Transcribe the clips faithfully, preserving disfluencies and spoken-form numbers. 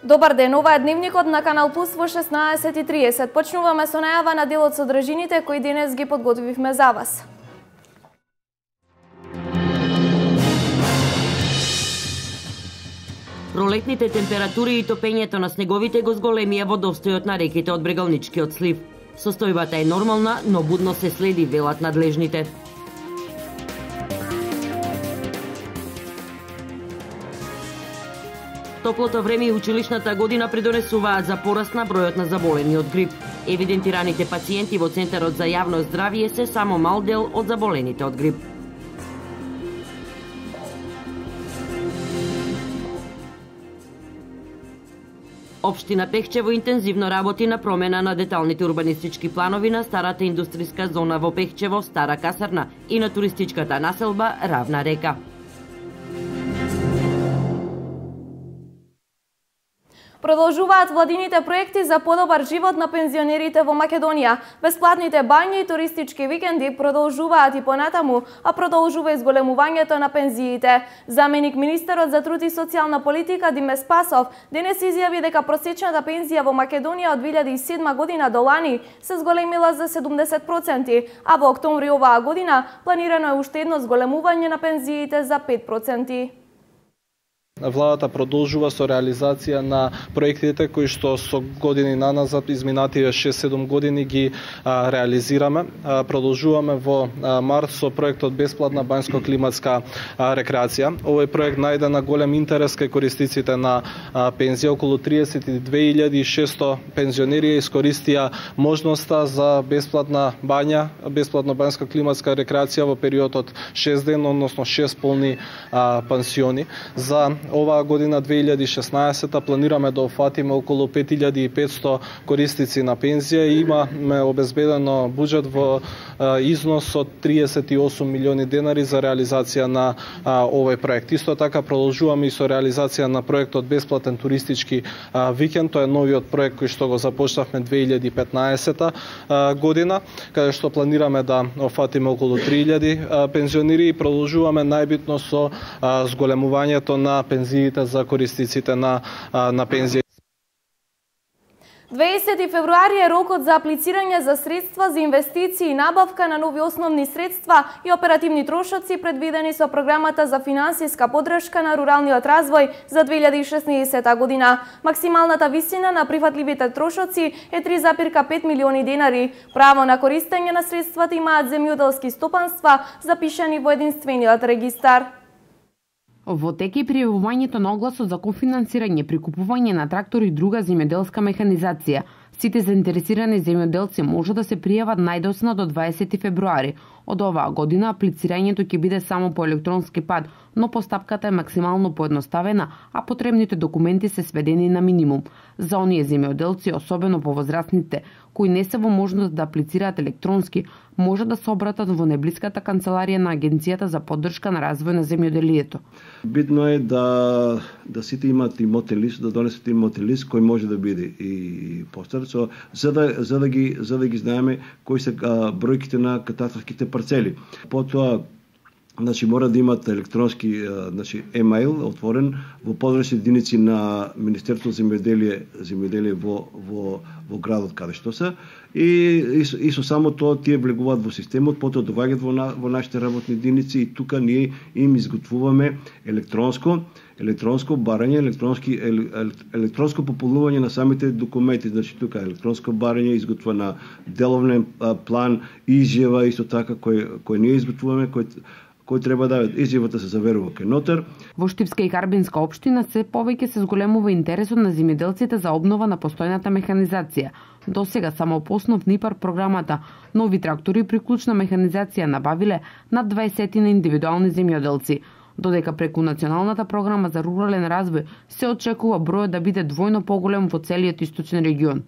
Добар ден, ова е Дневникот на Канал Плюс во шеснаесет и триесет. Почнуваме со најава на дел од содржините кои денес ги подготвивме за вас. Пролетните температури и топењето на снеговите го зголемија водостојот на реките од Брегалничкиот слив. Состојбата е нормална, но будно се следи, велат надлежните. Топлото време и училишната година придонесуваат за пораст на бројот на заболени од грип. Евидентираните пациенти во Центарот за јавно здравје се само мал дел од заболените од грип. Општина Пехчево интензивно работи на промена на деталните урбанистички планови на старата индустријска зона во Пехчево, Стара касарна и на туристичката населба Равна река. Продолжуваат владините проекти за подобар живот на пензионерите во Македонија. Бесплатните бањи и туристички викенди продолжуваат и понатаму, а продолжува и зголемувањето на пензиите. Заменик министерот за труд и социјална политика Диме Спасов денес изјави дека просечната пензија во Македонија од две илјади и седма година до лани се зголемила за седумдесет проценти, а во октомври оваа година планирано е уште едно зголемување на пензиите за пет проценти. Владата продолжува со реализација на проектите кои што со години наназад, изминативе шест-седум години ги а, реализираме. А, продолжуваме во а, март со проектот Бесплатна банјско-климатска рекреација. Овој проект најде на голем интерес кај користиците на а, пензија. Околу триесет и две илјади и шесто пензионери искористија можноста за бесплатна бања, бесплатна банјско-климатска рекреација во период од шест дена, односно шест полни а, пансиони. За оваа година две илјади и шеснаесета планираме да офатиме околу пет илјади и петсто корисници на пензија и имаме обезбедено буџет во а, износ од триесет и осум милиони денари за реализација на а, овој проект. Исто така продолжуваме и со реализација на проектот Бесплатен туристички а, викенд. Тоа е новиот проект кој што го започнавме две илјади и петнаесета а, година, каде што планираме да офатиме околу три илјади а, пензионери и продолжуваме најбитно со а, зголемувањето на пензиите за корисниците на, на пензија. дваесети февруари е рокот за аплицирање за средства за инвестиции и набавка на нови основни средства и оперативни трошоци предвидени со програмата за финансиска поддршка на руралниот развој за две илјади и шеснаесета година. Максималната висина на прифатливите трошоци е три запирка пет милиони денари. Право на користење на средствата имаат земјоделски стопанства запишани во единствениот регистар. Во тек е пријавувањето на огласот за кофинансирање при купување на трактори и друга земјоделска механизација. Сите заинтересирани земјоделци може да се пријават најдоцна до дваесети февруари. Од оваа година аплицирањето ќе биде само по електронски пат, но постапката е максимално поедноставена, а потребните документи се сведени на минимум. За оние земјоделци, особено повозрастните, кои не се во можност да аплицираат електронски, може да се обратат во најблиската канцеларија на Агенцијата за поддршка на развој на земјоделието. Битно е да да сите имаат имотен лист, да донесат имотен лист кој може да биде и постар, so, за да за да ги за да ги знаеме кои се а, бројките на катастарските парцели. Потоа, значи, мора да имат електронски, значи, емаил отворен во подрачни единици на Министерството за земјоделие, земјоделие во во во градот каде што се, и, и, и со само тоа тие влегуваат во системот, потоа доаѓаат во, на, во нашите работни единици и тука ние им изготвуваме електронско електронско барање, електронски ел, ел, електронско пополнување на самите документи. Значи тука електронско барање изготвува на деловен план, изјава исто така кој кој ние изготвуваме, кој кој треба да изјавата се заверува кај нотар. Во Штипска и Карбинска општина се повеќе се зголемува интересот на земјоделците за обнова на постојната механизација. До сега само по основ НИПАР програмата нови трактори и приклучна механизација набавиле над дваесет на индивидуални земјоделци, додека преку Националната програма за рурален развој се очекува бројот да биде двојно поголем во целиот источен регион.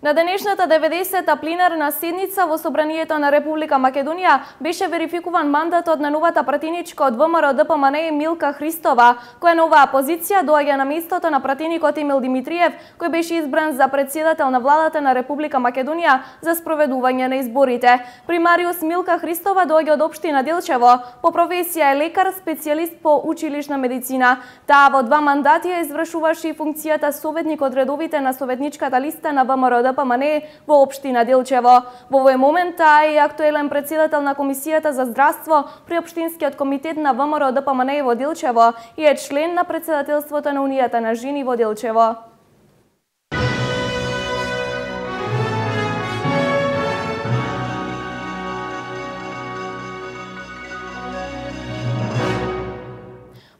На денешната деветдесета пленарна седница во Собранието на Република Македонија беше верификуван мандатот на новата пратеничка од ВМРО Д П М Н Милка Христова, која на оваа позиција доаѓа на местото на пратеникот Емил Димитриев, кој беше избран за председател на владата на Република Македонија за спроведување на изборите. Примариус Милка Христова доаѓа од општина Делчево, по професија е лекар, специјалист по училишна медицина. Таа во два мандати ја извршуваше и функцијата советник од редовите на советничката листа на ВМРО Д П М Н во општина Делчево. Во овој момент таа е актуелен председател на Комисијата за здравство при општинскиот комитет на ВМРО Д П М Н во Делчево и е член на председателството на Унијата на жени во Делчево.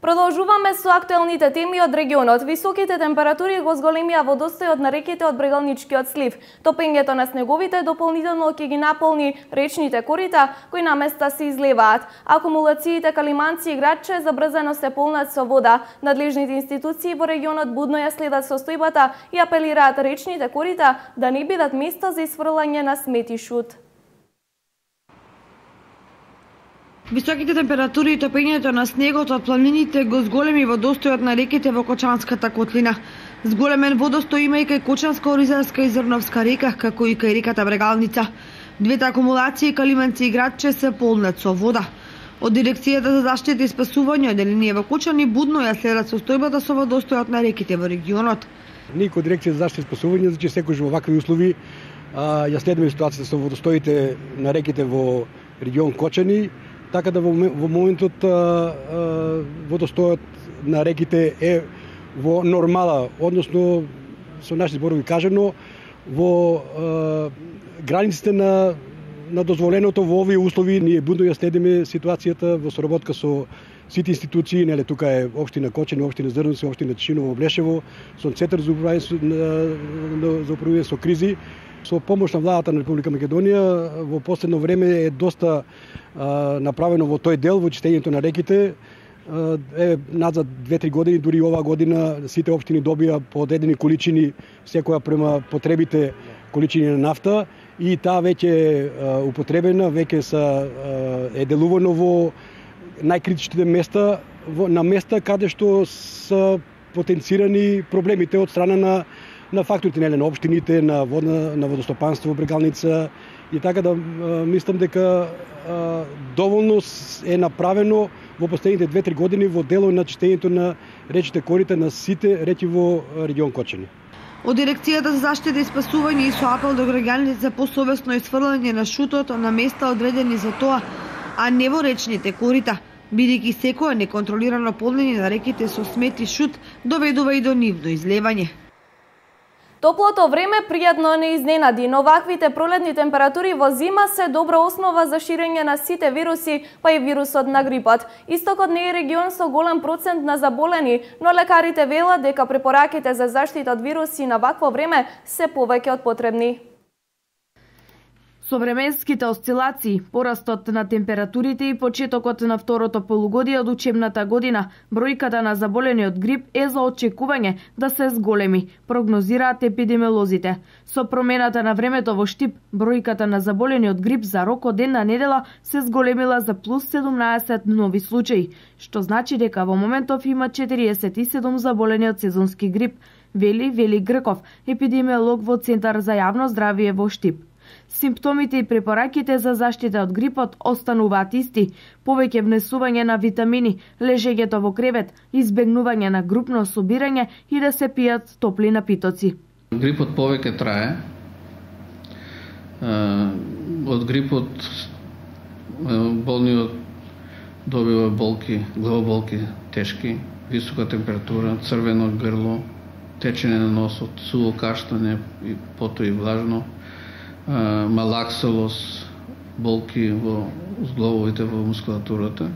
Продолжуваме со актуелните теми од регионот. Високите температури го зголемија водостојот на реките од Брегалничкиот слив. Топењето на снеговите дополнително ќе ги наполни речните корита, кои на места се излеваат. Акумулациите Калиманци и Градче забрзано се полнат со вода. Надлежните институции во регионот будно ја следат состојбата и апелираат речните корита да не бидат место за изфрлање на смети шут. Високите температури и топењето на снегот од планините го зголеми водостојот на реките во Кочанската котлина. Зголемен водостој има и кај Кочанска, Оризарска и Зрновска река, како и кај реката Брегалница. Двете акумулации Калиманци и Градче се полнат со вода. Од Дирекцијата за заштита и спасување одделение во Кочани будно ја следат состојбата со водостојот на реките во регионот. Ние кој Дирекција за заштита и спасување, значи секој во вакви услови а, ја следиме ситуацијата со водостоите на реките во регион Кочани. Така да во, во моментот а, а, водостојот на реките е во нормала, односно со наши зборови кажано, во а, границите на, на дозволеното во овие услови. Ние будно ја следиме ситуацијата во соработка со сите институции, нели тука е општина Кочани, општина Зрновци, општина Тишиново, Блешево, со Центар за управување за управување со кризи. Со помош на владата на Република Македонија во последно време е доста а, направено во тој дел, во чистењето на реките. А, е назад две-три години, дури оваа година, сите општини добија по одредени количини, секоја према потребите количини на нафта, и таа веќе е употребена, веќе са е делувано во најкритичните места, во, на места каде што са потенцирани проблемите од страна на на факторите, нели, на општините, на водна, на водостопанство, Брегалница, и така да мислам дека а, доволно е направено во последните две-три години во дело на чистењето на речните корита на сите реки во регион Кочани. Од Дирекцијата за заштита и спасување и со апел до граѓаните за посовесно исфрлање на шутот на места одредени за тоа, а не во речните корита, бидејќи секое неконтролирано полнење на реките со смети шут доведува и до нивно излевање. Топлото време пријатно не изненади, но ваквите пролетни температури во зима се добра основа за ширење на сите вируси, па и вирусот на грипот. Истокот не е регион со голем процент на заболени, но лекарите велат дека препораките за заштита од вируси на вакво време се повеќе од потребни. Со временските осцилации, порастот на температурите и почетокот на второто полугодие од учебната година, бројката на заболени од грип е за очекување да се зголеми, прогнозираат епидемиолозите. Со промената на времето во Штип, бројката на заболени од грип за рок од една недела се зголемила за плюс седумнаесет нови случаи, што значи дека во моментов има четириесет и седум заболени од сезонски грип, вели Вели Грков, епидемиолог во Центар за јавно здравје во Штип. Симптомите и препораките за заштита од грипот остануваат исти: повеќе внесување на витамини, лежењето во кревет, избегнување на групно собирање и да се пијат топли напитоци. Грипот повеќе трае. Од грипот болниот добива болки, главоболки тешки, висока температура, црвено грло, течење на носот, суво каштање и потоа и влажно, малаксалос, болки во зглобовите, во мускулатурата.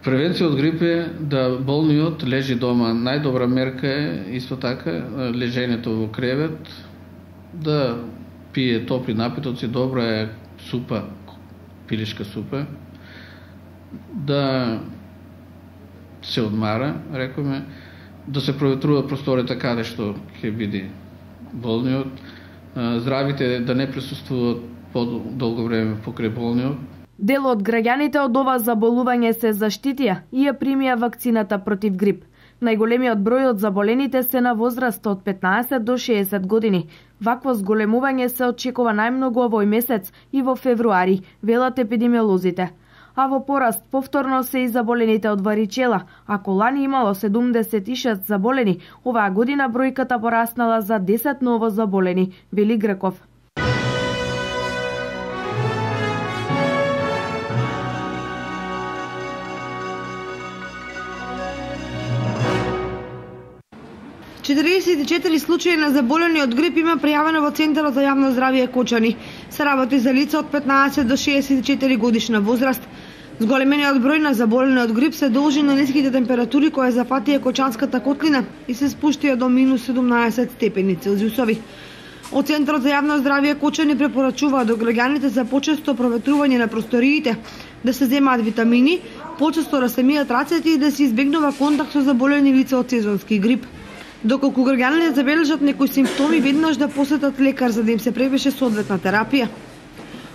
Превенција од грип е да болниот лежи дома. Најдобра мерка е исто така лежењето во кревет, да пие топли напитоци, добра е супа, пилешка супа, да се одмара, рекоме, да се проветрува просторијата каде што ќе биде болниот, здравите да не присуствуваат подолго време покрај болниот. Дел од граѓаните од ова заболување се заштитија и ја примија вакцината против грип. Најголемиот број од заболените се на возраст од петнаесет до шеесет години. Вакво зголемување се очекува најмногу овој месец и во февруари, велат епидемиолозите. А во пораст повторно се и заболените од варичела. Ако лани имало седумдесет и шест заболени, оваа година бројката пораснала за десет ново заболени, вели Греков. четириесет и четири случаи на заболени од грип има пријавено во Центарот за јавно здравје Кочани. Се работи за лица од петнаесет до шеесет и четири годишна возраст. Зголемениот број на заболени од грип се должи на ниските температури кои зафатија Кочанската котлина и се спуштија до минус седумнаесет степени Целзиусови. Од Центарот за јавно здравје Кочани препорачуваат до граѓаните за почесто проветрување на просториите, да се земаат витамини, почесто да се мијат рацете и да се избегнува контакт со заболени лица од сезонски грип. Доколку граѓаните забележат некои симптоми, веднаш да посетат лекар за да им се препише соодветна терапија.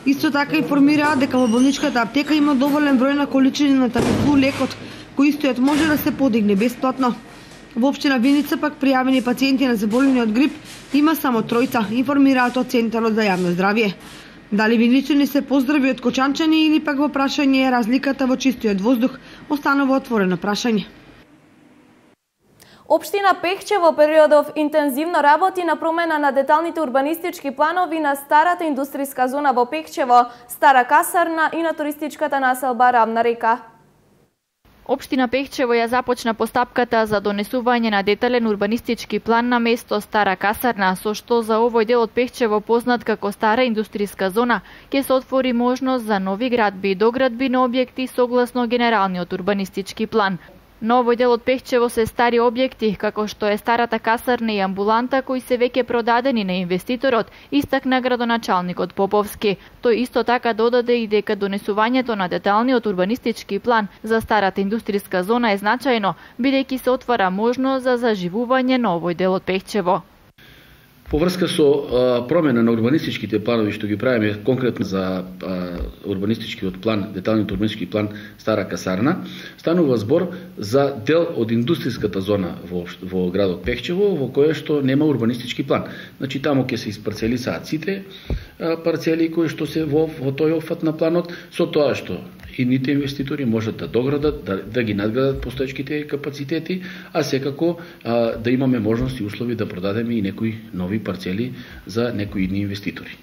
Исто така информираат дека во болничката аптека има доволен број на количини на Тамифлу лекот, кој истојот може да се подигне бесплатно. Во општина Виница пак пријавени пациенти на заболени од грип има само тројца, информираат од Центарот за јавно здравје. Дали виничани се поздрави од кочанчани или пак во прашање е разликата во чистиот воздух, останува отворено прашање. Општина Пехче во периодов интензивно работи на промена на деталните урбанистички планови на старата индустријска зона во Пехчево, Стара касарна и на туристичката населба Равна река. Општина Пехчево ја започна постапката за донесување на детален урбанистички план на место Стара касарна, со што за овој дел од Пехчево познат како Стара индустријска зона, ќе се отвори можност за нови градби и доградби на објекти согласно генералниот урбанистички план. На овој дел од Пехчево се стари објекти, како што е старата касарна и амбуланта, кои се веќе продадени на инвеститорот, истакна градоначалникот Поповски. Тој исто така додаде и дека донесувањето на деталниот урбанистички план за старата индустријска зона е значајно, бидејќи се отвара можност за заживување на овој дел од Пехчево. По врска со а, промена на урбанистичките планови што ги правиме конкретно за а, урбанистичкиот план, деталниот урбанистички план Стара касарна, станува збор за дел од индустријската зона во, во градот Пехчево, во која што нема урбанистички план. Значи таму ќе се испарцелисаат сите а, парцели кои што се во, во тој опфат на планот, со тоа што идните инвеститори можат да доградат, да, да ги надградат постоечките капацитети, а секако а, да имаме можности и услови да продадеме и некои нови парцели за некои идни инвеститори.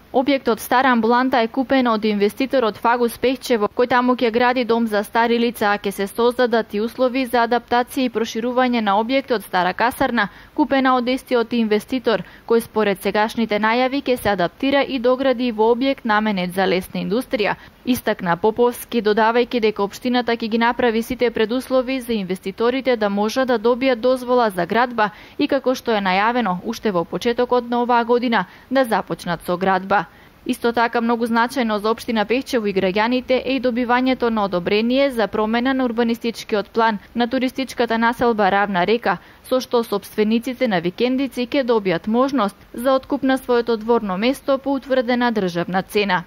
Објектот Стара амбуланта е купен од инвеститорот Фагус Пехчево, кој таму ќе гради дом за стари лица, а ќе се создадат и услови за адаптација и проширување на објектот Стара касарна, купена од истиот инвеститор, кој според сегашните најави ќе се адаптира и догради во објект наменет за лесна индустрија. Истакна Поповски, додавајќи дека општината ќе ги направи сите предуслови за инвеститорите да можат да добијат дозвола за градба и како што е најавено уште во почетокот на оваа година да започнат со градба. Исто така многу значајно за општина Пехчево и граѓаните е и добивањето на одобрение за промена на урбанистичкиот план на туристичката населба Равна река, со што сопствениците на викендици ќе добијат можност за откуп на своето дворно место по утврдена државна цена.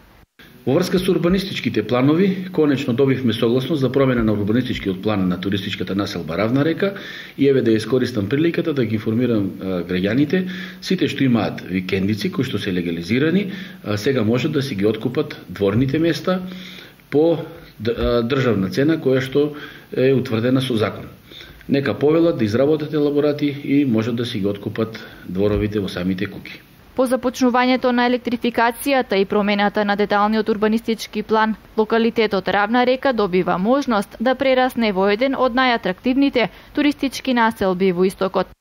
Во врска со урбанистичките планови, конечно добивме согласност за промена на урбанистичкиот план на туристичката населба Равна река и еве да искористам приликата да ги информирам а, граѓаните, сите што имаат викендици кои што се легализирани, а, сега можат да си ги откупат дворните места по државна цена која што е утврдена со закон. Нека повелат да изработат елаборати и можат да си ги откупат дворовите во самите куќи. По започнувањето на електрификацијата и промената на деталниот урбанистички план, локалитетот Равна река добива можност да прерасне во еден од најатрактивните туристички населби во истокот.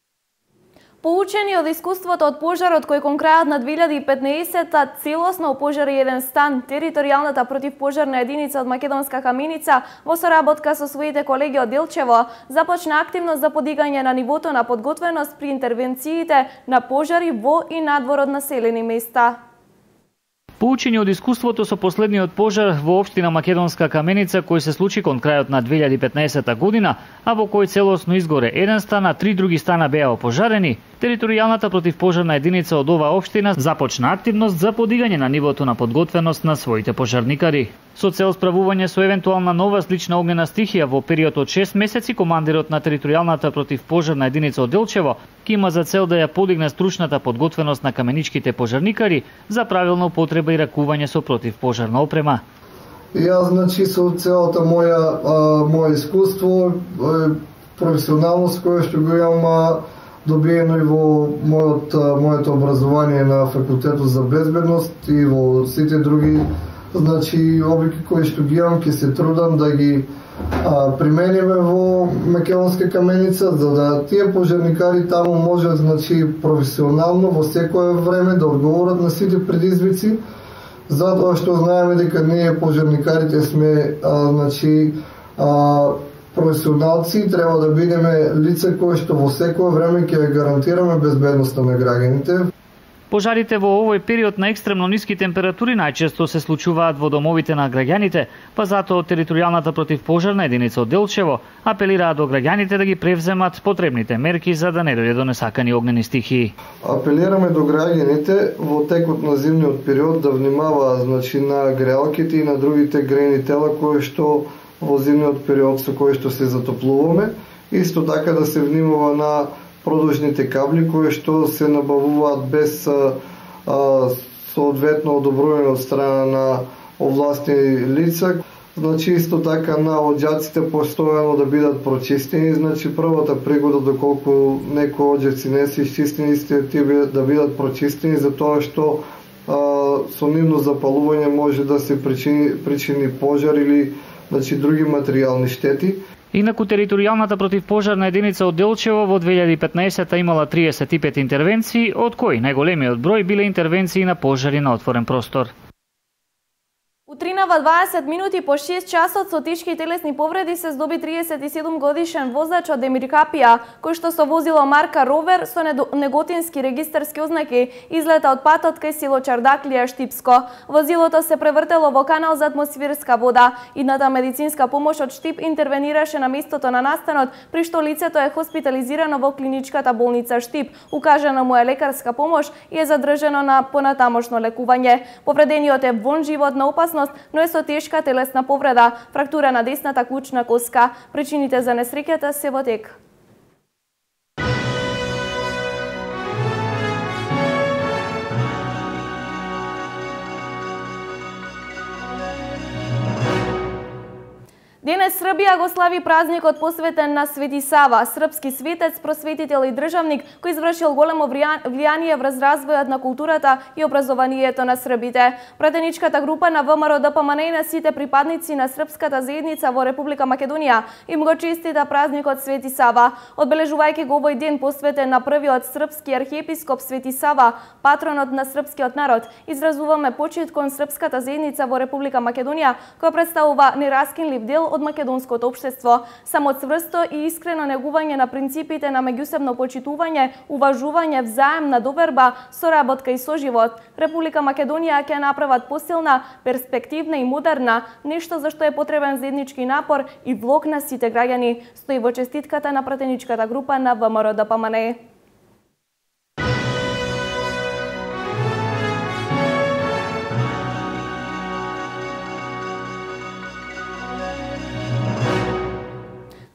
Поучени од искуството од пожарот кој кон крајот на две илјади и петнаесетта целосно опожари еден стан, територијалната противпожарна единица од Македонска каменица во соработка со своите колеги од Делчево започна активност за подигање на нивото на подготвеност при интервенциите на пожари во и надвор од населени места. Поучени од искуството со последниот пожар во општина Македонска Каменица кој се случи кон крајот на две илјади и петнаесетта година, а во кој целосно изгоре еден стан, а три други стана беа опожарени, територијалната противпожарна единица од оваа општина започна активност за подигање на нивото на подготвеност на своите пожарникари. Со цел справување со евентуална нова слична огнена стихија во период од шест месеци, командирот на територијалната противпожарна единица од Делчево ки има за цел да ја подигне стручната подготвеност на каменичките пожарникари за правилна употреба и ракување со противпожарна опрема. Јас, значи, со целата моја а, моја искуство, а, професионалност која што го имам добиено и во мојот, моето образование на факултетот за безбедност и во сите други, значи, облики кои што ги имам, ќе се трудам да ги а, примениме во Македонска Каменица, за да тие пожарникари таму можат, значи, професионално во секое време да одговорат на сите предизвици, затоа што знаеме дека ние пожарникарите сме, а, значи, а, професионалци, треба да бидеме лица кои што во секое време ќе гарантираме безбедноста на граѓаните. Пожарите во овој период на екстремно ниски температури најчесто се случуваат во домовите на граѓаните, па затоа територијалната противпожарна единица од Делчево апелираат до граѓаните да ги превземат потребните мерки за да не дојде до несакани огнени стихии. Апелираме до граѓаните во текот на зимниот период да внимаваат, значи, на греалките и на другите грејни тела кои што во зимниот период со кои што се затоплуваме. Исто така да се внимава на продужните кабли кои што се набавуваат без а, а, соодветно одобрување од страна на овластени лица. Значи, исто така на оѓаците постојано да бидат прочистени. Значи, првата пригода доколку некои оѓаци не се изчистени, истите тие да бидат прочистени, затоа што а, со нивно запалување може да се причини, причини пожар или, значи, други материјални штети. Инаку територијалната противпожарна единица од Делчево во две илјади и петнаесетта имала триесет и пет интервенции, од кои најголемиот број биле интервенции на пожари на отворен простор. Утринава дваесет минути по шест часот со тешки телесни повреди се здоби триесет и седум годишен возач од Емиркапија, кој што со возило марка Ровер со неготински регистарски ознаки излета од патот кај село Чардаклија, Штипско. Возилото се превртело во канал за атмосферска вода. Идната медицинска помош од Штип интервенираше на местото на настанот, при што лицето е хоспитализирано во клиничката болница Штип. Укажана му е лекарска помош и е задржано на понатамошно лекување. Повредениот е вон животна опасност, но е со тешка телесна повреда, фрактура на десната клучна коска. Причините за несреќата се во тек. Денес Србија го слави празникот посветен на Свети Сава, српски светец, просветител и државник кој извршил големо влијание врз развојот на културата и образованието на србите. Пратеничката група на ВМРО-ДПМН и на сите припадници на српската заедница во Република Македонија им го честита празникот Свети Сава, одбележувајќи го овој ден посветен на првиот српски архиепископ Свети Сава, патронот на српскиот народ. Изразуваме почит кон српската заедница во Република Македонија, која представува нераскинлив дел од македонското општество. Само цврсто и искрено негување на принципите на меѓусебно почитување, уважување, взаемна доверба, соработка и соживот, Република Македонија ќе направат посилна, перспективна и модерна, нешто за што е потребен заеднички напор и влог на сите граѓани, стои во честитката на пратеничката група на ВМРО-ДПМН.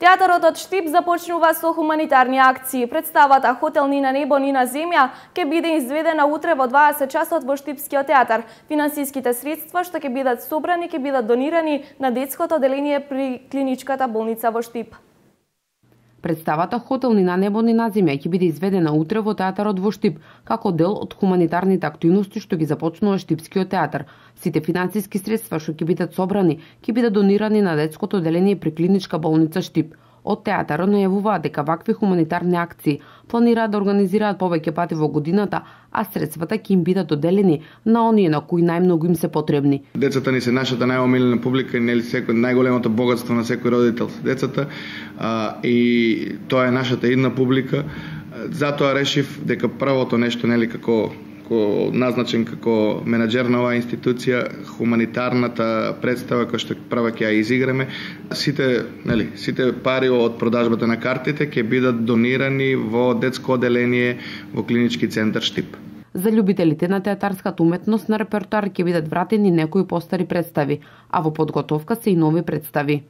Театарот од Штип започнува со хуманитарни акции. Представата Хотел ни на небо, ни на земја ќе биде изведена утре во дваесет часот во Штипскиот театар. Финансиските средства што ќе бидат собрани ќе бидат донирани на детското оделение при клиничката болница во Штип. Представата Хотел ни на небо, ни на земја ќе биде изведена утре во театарот во Штип, како дел од хуманитарните активности што ги започнува Штипскиот театар. Сите финансиски средства што ќе бидат собрани ќе бидат донирани на детското оделение при клиничка болница Штип. Од театарот најавуваат дека вакви хуманитарни акции планираат да организираат повеќе пати во годината, а средствата ќе им бидат доделени на оние на кои најмногу им се потребни. Децата ни се нашата најомилена публика и нели секој најголемото богатство на секој родител се децата, а, и тоа е нашата идна публика. Затоа решив дека првото нешто, нели, како како назначен како менаџер на оваа институција, хуманитарната представа која што прва ќе ја изиграме, сите, нели, сите пари од продажбата на картите ќе бидат донирани во детско оделение во клинички центар Штип. За љубителите на театарската уметност на репертоар ќе бидат вратени некои постари представи, а во подготовка се и нови представи.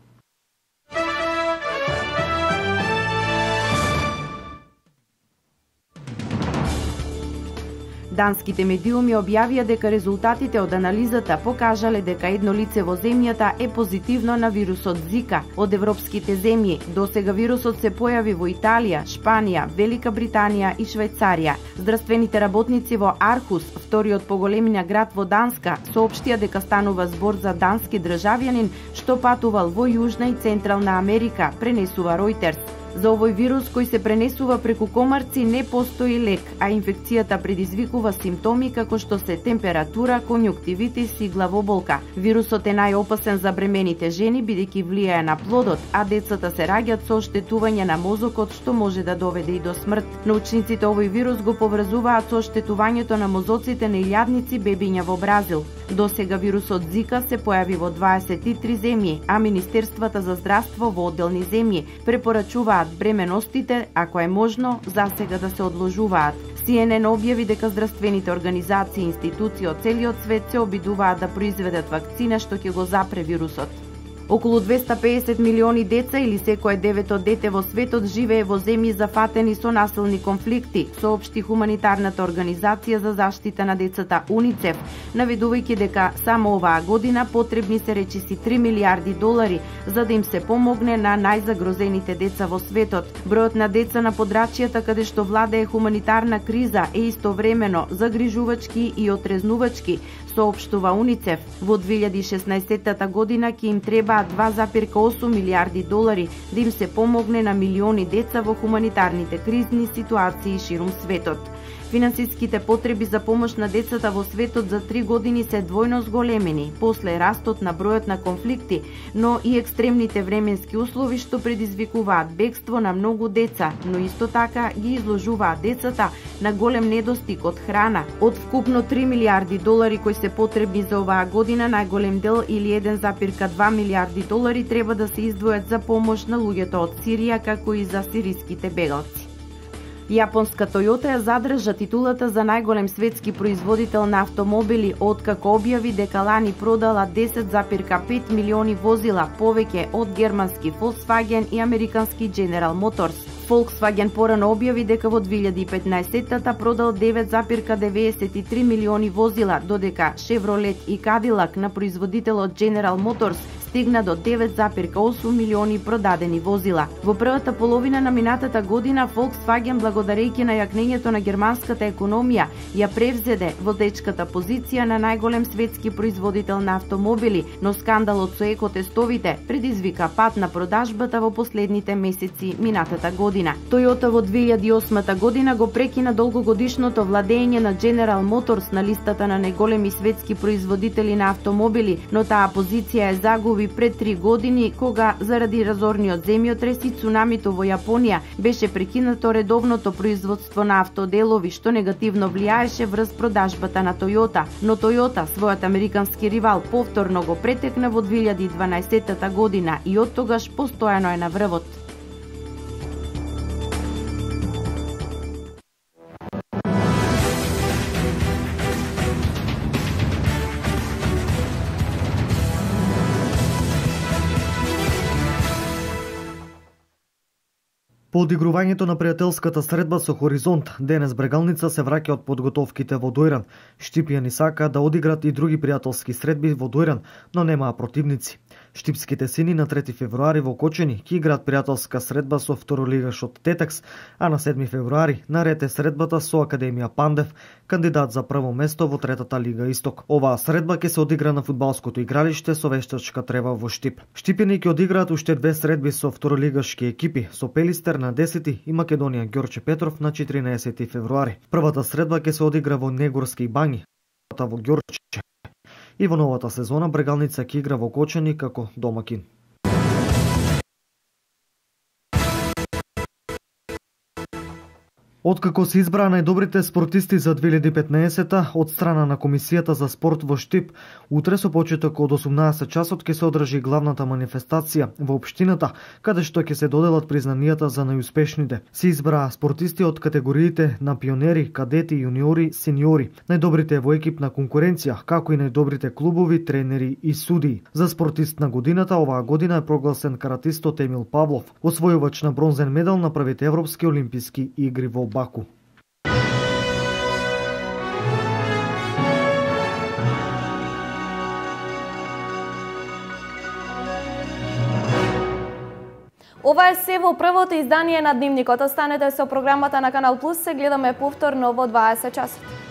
Данските медиуми објавија дека резултатите од анализата покажале дека едно лице во земјата е позитивно на вирусот Зика. Од европските земји досега вирусот се појави во Италија, Шпанија, Велика Британија и Швајцарија. Здравствените работници во Архус, вториот по големина град во Данска, соопштија дека станува збор за дански државјанин што патувал во Јужна и Централна Америка, пренесува Ројтерс. За овој вирус кој се пренесува преку комарци не постои лек, а инфекцијата предизвикува симптоми како што се температура, конјуктивитис и главоболка. Вирусот е најопасен за бремените жени бидејќи влијае на плодот, а децата се раѓаат со оштетување на мозокот што може да доведе и до смрт. Научниците овој вирус го поврзуваат со оштетувањето на мозоците на илјадници бебиња во Бразил. Досега вирусот Зика се појави во дваесет и три земји, а Министерствата за здравство во одделни земји препорачуваат бременостите, ако е можно, засега да се одложуваат. Си Ен Ен објави дека здравствените организации и институции од целиот свет се обидуваат да произведат вакцина што ќе го запре вирусот. Околу двесте песет милиони деца или секое девето дете во светот живее во земји зафатени со насилни конфликти, соопшти хуманитарната организација за заштита на децата УНИЦЕФ, наведувајќи дека само оваа година потребни се речиси три милиарди долари за да им се помогне на најзагрозените деца во светот. Бројот на деца на подрачјата каде што владее хуманитарна криза е истовремено загрижувачки и отрезнувачки, соопштува УНИЦЕФ. Во две илјади и шеснаесетта година ќе им треба два зарез осум милиарди долари да им се помогне на милиони деца во хуманитарните кризни ситуации ширум светот. Финансиските потреби за помош на децата во светот за три години се двојно зголемени после растот на бројот на конфликти, но и екстремните временски услови што предизвикуваат бегство на многу деца, но исто така ги изложуваат децата на голем недостиг од храна. Од вкупно три милиарди долари кои се потребни за оваа година, најголем дел или еден зарез два милиарди долари треба да се издвојат за помош на луѓето од Сирија, како и за сириските бегалци. Јапонска Toyota ја задржа титулата за најголем светски производител на автомобили, откако објави дека лани продала десет зарез пет милиони возила, повеќе од германски Volkswagen и американски General Motors. Volkswagen порано објави дека во две илјади и петнаесетта продал девет зарез деветдесет и три милиони возила, додека Chevrolet и Cadillac на производителот General Motors стигна до девет зарез осум милиони продадени возила. Во првата половина на минатата година Volkswagen, благодарејќи на јакнењето на германската економија, ја превзеде водечката позиција на најголем светски производител на автомобили, но скандалот со екотестовите предизвика пат на продажбата во последните месеци минатата година. Toyota во две илјади и осма година го прекина долгогодишното владење на General Motors на листата на најголеми светски производители на автомобили, но таа позиција е загуби пред три години, кога заради разорниот земјотрес и цунамито во Јапонија беше прекинато редовното производство на автоделови, што негативно влијаеше врз продажбата на Toyota. Но Toyota, својот американски ривал, повторно го претекна во две илјади и дванаесетта година и оттогаш постојано е на врвот. По одигрувањето на пријателската средба со Хоризонт, денес Брегалница се враќа од подготовките во Дојран. Штипјани сакаат да одиграт и други пријателски средби во Дојран, но немаа противници. Штипските сини на трети февруари во Кочени ќе играат пријателска средба со второлигашот Тетекс, а на седми февруари наред е средбата со Академија Пандев, кандидат за прво место во третата лига Исток. Оваа средба ќе се одигра на фудбалското игралиште со вештачка трева во Штип. Штипјани ќе одиграат уште две средби со второлигашки екипи, со Пелистер на десети и Македонија Ѓорче Петров на четиринаесети февруари. Првата средба ќе се одигра во Негорски бањи, во Ѓорче. И во новата сезона Брегалница ќе игра во Кочени како домакин. Откако се избраа најдобрите спортисти за две илјади и петнаесета од страна на Комисијата за спорт во Штип, утре со почеток од осумнаесет часот ќе се одржи главната манифестација во општината, каде што ќе се доделат признанијата за најуспешните. Се избраа спортисти од категориите на пионери, кадети, јуниори, сениори, најдобрите во екипна конкуренција, како и најдобрите клубови, тренери и судии. За спортист на годината оваа година е прогласен каратистот Емил Павлов, освојувач на бронзен медал на првите европски олимписки игри во Баку. Ова е се во првото издание на Дневникот. Останете со програмата на Канал Плюс, се гледаме повторно во дваесет часот.